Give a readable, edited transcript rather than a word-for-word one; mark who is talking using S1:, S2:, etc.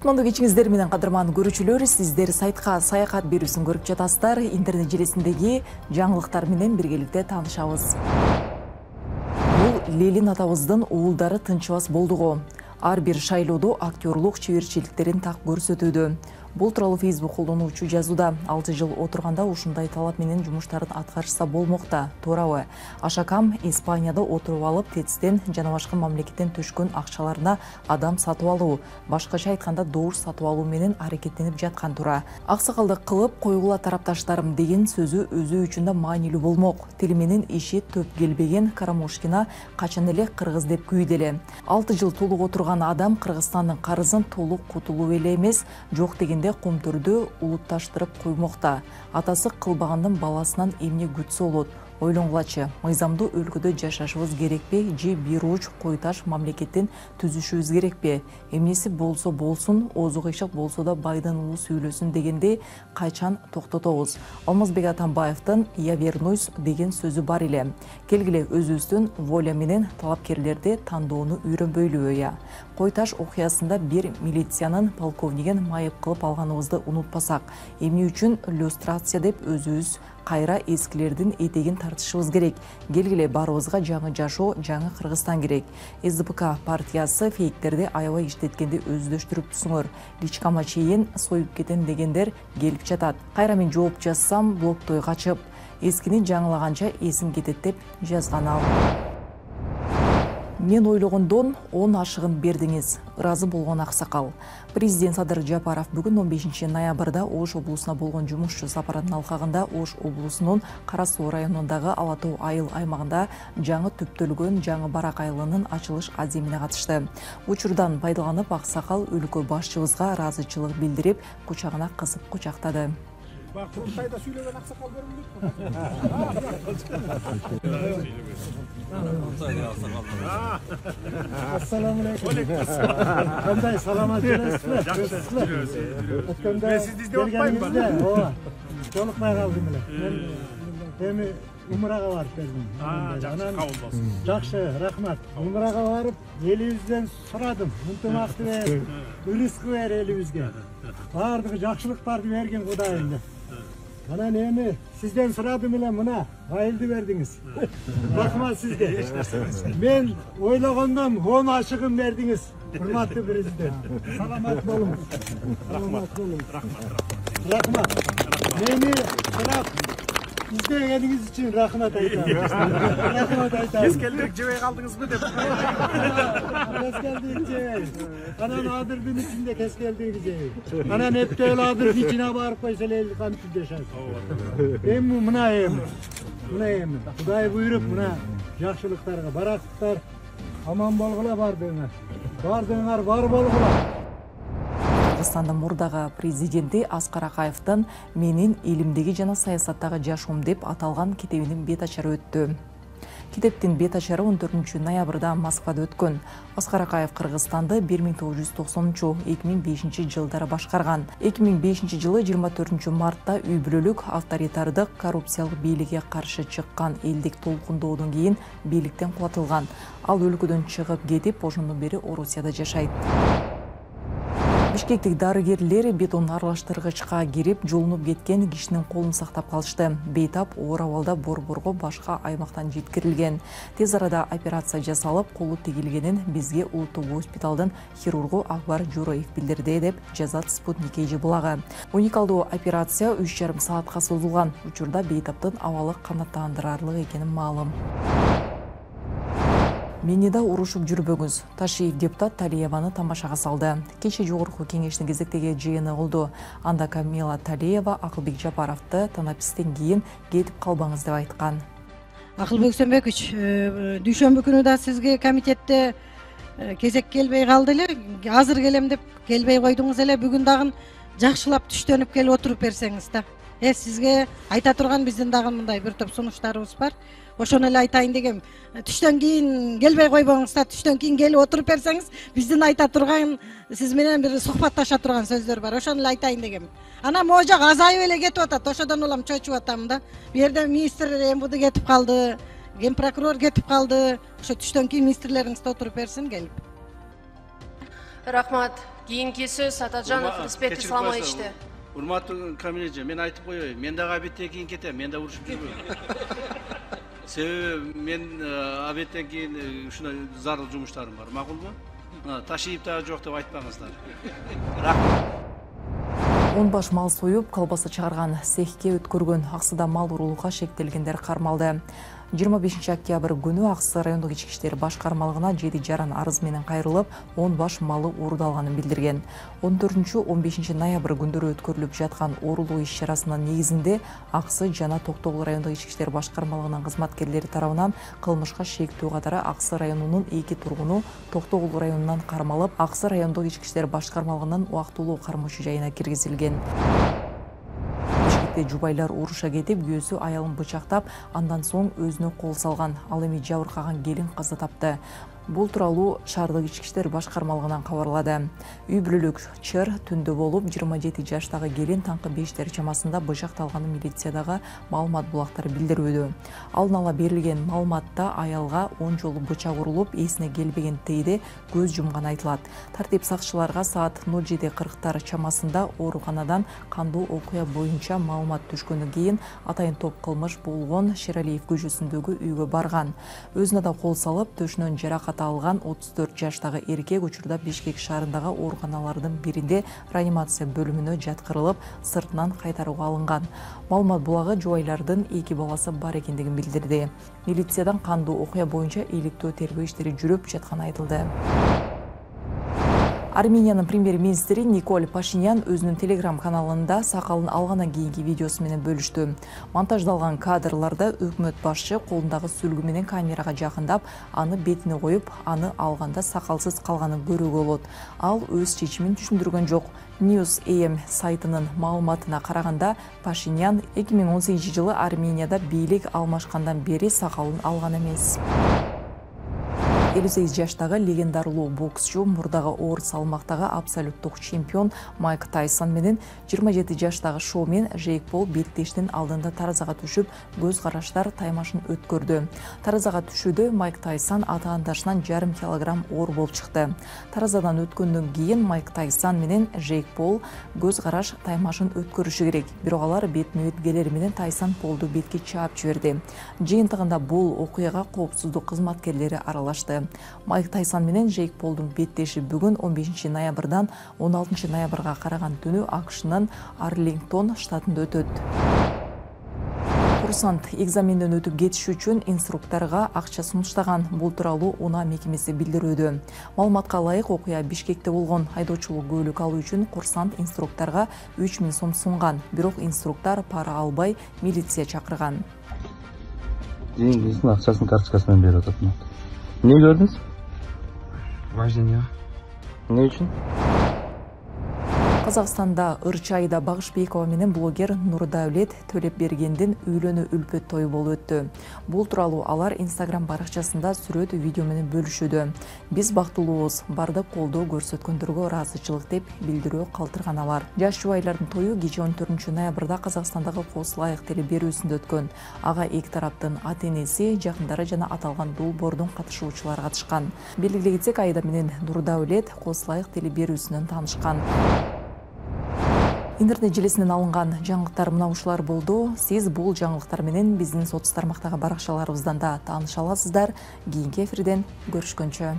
S1: Кутмандуу кечиңиздер менен кадырман көрүүчүлөр, сиздер сайтка саякат берүүсүн көрүп жатасыздар. Интернет желесиндеги жаңылыктар менен биргеликте таанышабыз. Бул Лелин атабыздын уулдары тынчыбас болдуго. Ар бир шайлоодо актерлук чеберчиликтерин так көрсөтүүдө. Бул тууралуу Facebook колдонуучу жазууда. 6 жыл отурганда ушундай талап менен жумуштарын аткарышса болмокта. Туурабы? Ашакам Испанияда отуруп алып, ТЭЦтен жана башка мамлекеттен түшкөн акчаларына адам сатып алуу, башкача айтканда добуш сатып алуу менен аракеттенип жаткан тура. Аксакалдык кылып койгула тарапташтарым деген сөзү өзү үчүн да маанилүү болмок. Тили менен иши төп келбеген Карамушкина качан эле кыргыз деп күйдү эле. 6 жыл толук отурган адам Кыргызстандын карызын толук кутулуу эле эмес, жок деген комтурду улутташтырып коймокта. Атасы кылбагандын баласынан эмне күтсө болот? Ойлонгулачы, мыйзамдуу өлкөдө жашашыбыз керекпи же бир уч койташ мамлекеттен түзүшүбүз керекпи? Эмнеси болсо болсун, оозу кыйшык болсо да байдан улуу сүйлөсүн дегенде качан токтотобуз? Алмазбек Атамбаевдин "Я вернусь" деген сөзү бар эле. Келгиле өзүбүздүн воля менен талапкерлерди тандоону үйрөнбөйлүбү я? Койташ окуясында бир милициянын полковнигин майып кылып алганыбызды унутпасак, эмне үчүн люстрация деп өзүбүз кайра эскилердин этегин тартышыбыз керек? Келгиле баарыбызга жаңы жашоо, жаңы Кыргызстан керек. СДПК партиясы фейктерди аябай иштеткенди өздөштүрүп түсүңөр. Личкама чейин союп кетем дегендер келип жатат. Кайра мен жооп жазсам, блоктой качып, эскини жаңылаганча эсим кетет деп жазган ал. Мен ойлогондон 10 ашыгын бердиңиз. Ыраазы болгон аксакал. Президент Садыр Жапаров бүгүн 15 ноябрда Ош облусуна болгон жумушчу сапарынын алкагында Ош облусунун Кара Суу районундагы Ала Тоо айыл аймагында жаңы түптөлгөн жаңы барак айылынын ачылыш аземине катышты. Учурдан пайдаланып аксакал өлкө башчыбызга ыраазычылык билдирип, кучагына кысып кучактады.
S2: Курултайда сүйлөгөн аксакал көрүнбөйт. Ассаламу алейкум. Кандай саламат жүрөсүзбү? Жакшы. Мен сизди издеп атпаймынбы? Ооба. Жолукпай калдым эле. Мен эми умрага барып келдим.
S3: Жакшы, кабыл болсун.
S2: Жакшы, рахмат. Умрага барып, элибизден сурадым. Ынтымакты бер, рызкы бер элибизге. Бардыгы жакшылыктарды берген Кудайым деп. Анан эми сизден сурадым эле, мына айылды бердиңиз. Рахмат сизге. Мен ойлогондон 10 ашыгын бердиңиз. Урматтуу президент. Саламат болуңуз. Рахмат. Рахмат. Мени сынап издегениңиз үчүн рахмат айтам. Рахмат айтам.
S3: Кескелдик жебей калдыңызбы деп.
S2: Кескелдик жебей. Анан адырдын ичинде кескелдик жебей. Анан эптел адырдын ичине барып койсо эле кантип жашайт. Эми мына эми. Кудай буйруп мына жакшылыктарга, барактыктар аман болгула бардыңар. Бардыңар бар болгула.
S1: Кыргызстандын мурдагы президенти Аскар Акаевдин "Менин элимдеги жана саясаттагы жашоом" деп аталган китебинин бет ачары өттү. Китептин бет ачары 14 ноябрда Москвада өткөн. Аскар Акаев Кыргызстанды 1990-2005 жылдары башкарган. 2005 жылы 24 мартта үй бүлөлүк авторитардык коррупциялык бийликке каршы чыккан элдик толкундоодон кийин бийликтен кулатылган. Ал өлкөдөн чыгып кетип, ошондон бери Орусияда жашайт. Бишкектик дарыгерлер бетон аралаштыргычка кирип, жолунуп кеткен кишинин колун сактап калышты. Бейтап оор абалда борборго башка аймактан жеткирилген. Тез арада операция жасалып, колу тигилгенин бизге улуттук госпиталдын хирургу Акбар Журоев билдирди деп жазат Спутник эже булагы. Уникалдуу операция 3,5 саатка созулган. Учурда бейтаптын абалы канааттандырарлык экени маалым. Мени да урушуп жүрбөңүз. Ташиев депутат Талиеваны тамашага салды. Кече жогорку кеңештин кезектеги жыйыны болду. Анда Камила Талиева Акылбек Жапаровду танапистен кийин кетип калбаңыз деп айткан.
S4: Акылбек Сөмбөкүч, дүйшөмбү күнү да сизге комитетте кезек келбей калды эле. Азыр келем деп келбей койдуңуз эле. Бүгүн дагы жакшылап түштөнүп келип отуруп берсеңиз да. Сизге айта турган биздин дагы мындай бир топ сунуштарыбыз бар. Ошону эле айтайын дегем. Түштөн кийин келбей койбоңуз да, түштөн кийин келип отуруп берсеңиз, биздин айта турган, сиз менен бир сухбатташа турган сөздөр бар. Ошону эле айтайын дегем. Анан могу жак азайып эле кетип атат. Ошодон улам чочуп атам да. Бу жерде министр МВД кетип калды, ген прокурор кетип калды. Ошо түштөн кийин министрлериңиз отуруп берсин келип.
S5: Рахмат. Кийинки сөз Атажанов Рыспек Исламовичте.
S6: Урматтуу Камилже, мен айтып коеюн, мен дагы обедтен кийин кетем, мен да урушуп жүрбөйм. Себеби мен обедтен кийин ушундай зарыл жумуштарым бар, макулбу? Ташиып дагы жок деп айтпаңыздар. Рахмат.
S1: 10 баш мал союп, колбаса чыгарган цехке өткөргөн Аксыда мал уруулукка шектелгендер кармалды. 25 октябрь күнү Аксы райондук ички иштер башкармалыгына 7 жаран арыз менен кайрылып, 10 баш малы уурдалганын билдирген. 14-15 ноябрь күндөрү өткөрүлүп жаткан уурулуу иш-чарасынын негизинде Аксы жана Токтогул райондук ички иштер башкармалыгынын кызматкерлери тарабынан кылмышка шектүү катары Аксы районунун 2 тургуну Токтогул районунан кармалып, Аксы райондук ички иштер башкармалыгынын убактылуу кармоочу жайына киргизилген. Жубайлар уруша кетип, күйөөсү аялын бычактап, андан соң өзүнө кол салган. Ал эми жабыркаган келин каза тапты. Бул тууралуу шаардык ички иштер башкармалыгынан кабарлады. Үй бүлөлүк чыр түндө болуп, 27 жаштагы келин таңкы 5 чамасында бычакталганын милициядагы маалымат булактары билдирүүдө. Алдын ала берилген маалыматта аялга 10 жолу бычак урулуп, эсине келбеген тейде көз жумган айтылат. Тартип сакчыларга саат 07:40 чамасында ооруканадан кандуу окуя боюнча маалымат түшкөндөн кийин атайын топ кылмыш болгон Шералиев көчөсүндөгү үйгө барган. Өзүнө да кол салып, төшүнөн жаракат алган 34 жаштагы эркек учурда Бишкек шаарындагы ооруканалардын биринде реанимация бөлүмүнө жаткырылып, сыртынан кайтарууга алынган. Маалымат булагы жубайлардын 2 баласы бар экендигин билдирди. Милициядан кандуу окуя боюнча иликтөө тергөө иштери жүрүп жатканы айтылды. Армениянын премьер-министри Николь Пашинян өзүнүн Telegram каналында сакалын алгандан кийинки видеосу менен бөлүштү. Монтаждалган кадрларда өкмөт башчы колундагы сүлгү менен камерага жакындап, аны бетине коюп, аны алганда сакалсыз калганын көрүүгө болот. Ал өз чечимин түшүндүргөн жок. News.am сайтынын маалыматына караганда, Пашинян 2018 жылы Арменияда бийлик алмашкандан бери сакалын алган эмес. 58 жаштагы легендарылуу боксчу, мурдагы оор салмактагы абсолюттук чемпион Майк Тайсон менен 27 жаштагы шоумен Жейк Пол беттештин алдында таразага түшүп, көз караштар таймашын өткөрдү. Таразага түшүүдө Майк Тайсон атаандашынан 1,5 килограмм оор болуп чыкты. Таразадан өткөндөн кийин Майк Тайсон менен Жейк Пол көз караш таймашын өткөрүшү керек. Бирок алар бетме-бет келери менен Тайсон Полду бетке чаап жиберди. Жыйынтыгында бул окуяга коопсуздук кызматкерлери аралашты. Майк Тайсон менен Жейк Полдун беттеши бүгүн 15 ноябрдан 16 ноябрга караган түнү АКШнын Арлингтон штатында өтөт. Курсант экзаменден өтүп кетиш үчүн инструкторго акча сунуштаган. Бул тууралуу УНА мекемеси билдирүүдө. Маалыматка ылайык, окуя Бишкекте болгон. Айдоочулук көлүк алуу үчүн курсант инструкторго 3000 сом сунган. Бирок инструктор пара албай, милиция чакырган.
S7: Деньгисин акчасын карточкасынан берип атат. Эмне көрдүңүз?
S3: Вождение.
S7: Эмне үчүн?
S1: Казакстанда Ырчайда Багышбекова менен блогер Нурдаулет Төлепбергендин үйлөнүү үлпөт тою болуп өттү. Бул тууралуу алар Instagram баракчасында сүрөт видео менен бөлүшүүдө. Биз бактылуубуз, бардык колдоо көрсөткөндөргө ыраазычылык деп билдирүү калтырган алар. Жаш жубайлардын тою кечээ 14 ноябрда Казакстандагы Кослайык теле берүүсүндө өткөн. Ага эки тараптын ата-энеси, жакындары жана аталган долбоордун катышуучулары катышкан. Белгилей кетсек, Айда менен Нурдаулет Кослайык теле берүүсүнөн таанышкан. Интернет желесинен алынган жаңылыктар мына ушулар болду. Сиз бул жаңылыктар менен биздин соц тармактагы баракчаларыбыздан да тааныша аласыздар. Кийинки эфирден көрүшкөнчө.